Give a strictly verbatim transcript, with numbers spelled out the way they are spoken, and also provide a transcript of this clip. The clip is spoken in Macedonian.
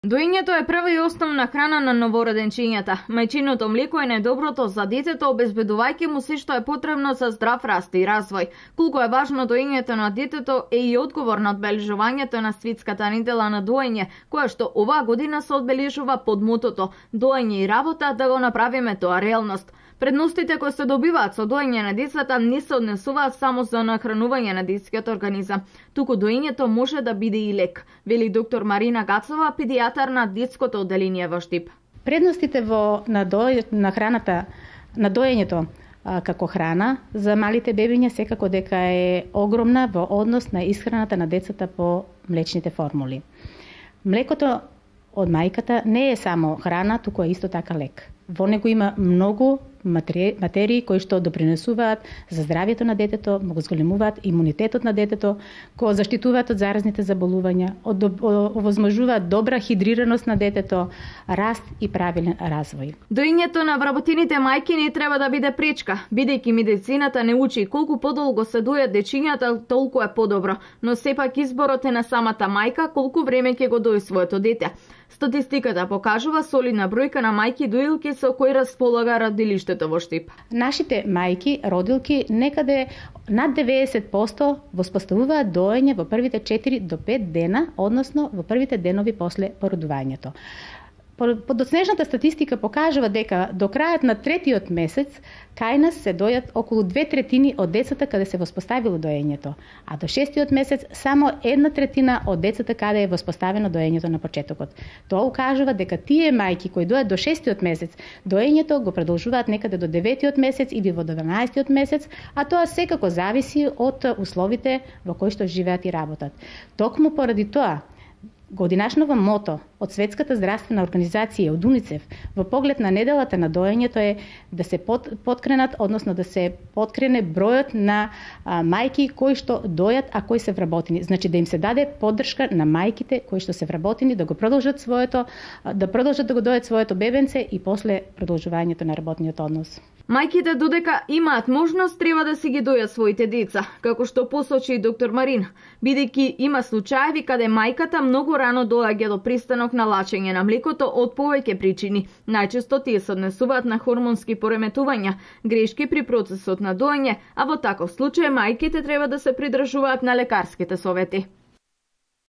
Доењето е прва и основна храна на новороденчињата. Мајчиното млеко е најдоброто за детето, обезбедувајќи му се што е потребно за здрав раст и развој. Колку е важно доењето на детето е и одговор на одбележувањето на светската недела на доење, која што оваа година се одбележува под мотото "Доење и работа, да го направиме тоа реалност". Предностите кои се добиваат со доење на децата не се однесуваат само за нахранување на детскиот организам, туку доењето може да биде и лек, вели доктор Марина Гацова, педијатар на детското одделение во Штип. Предностите во на, до, на храната на доењето а, како храна за малите бебиња секако дека е огромна во однос на исхраната на децата по млечните формули. Млекото од мајката не е само храна, туку е исто така лек. Во него има многу материи кои што допринесуваат за здравјето на детето, го зголемуваат имунитетот на детето, го заштитуваат од заразните заболувања, овозможуваат добра хидрираност на детето, раст и правилен развој. Доењето на вработените мајки не треба да биде пречка, бидејќи медицината не учи колку подолго се дојат дечињата, толку е подобро, но сепак изборот е на самата мајка колку време ќе го дои своето дете. Статистиката покажува солидна бројка на мајки доилки со кои располага родилиштето во Штип. Нашите мајки, родилки, некаде над деветдесет проценти воспоставуваат доење во првите четири до пет дена, односно во првите денови после породувањето. Подоцнежната статистика покажува дека до крајот на третиот месец кај нас се дојат околу две третини од децата каде се воспоставило доењето, а до шестиот месец само една третина од децата каде е воспоставено доењето на почетокот. Тоа укажува дека тие мајки кои дојат до шестиот месец, доењето го продолжуваат некаде до деветиот месец или во дванаесеттиот месец, а тоа секако зависи од условите во кои што живеат и работат. Токму поради тоа, годинашново мото од Светската здравствена организација од УНИЦЕФ во поглед на неделата на доењето е да се под, подкренат, односно да се подкрене бројот на а, мајки кои што дојат, а кои се вработени. Значи да им се даде поддршка на мајките кои што се вработени да го продолжат своето, да продолжат да го дојат своето бебенце и после продолжувањето на работниот однос. Мајките додека имаат можност треба да си ги дојат своите деца, како што посочи доктор Марин, бидејќи има случаеви каде мајката многу рано доаѓа до пристанок на лачење на млекото од повеќе причини. Најчесто тие се однесуваат на хормонски пореметувања, грешки при процесот на доење, а во таков случај мајките треба да се придржуваат на лекарските совети.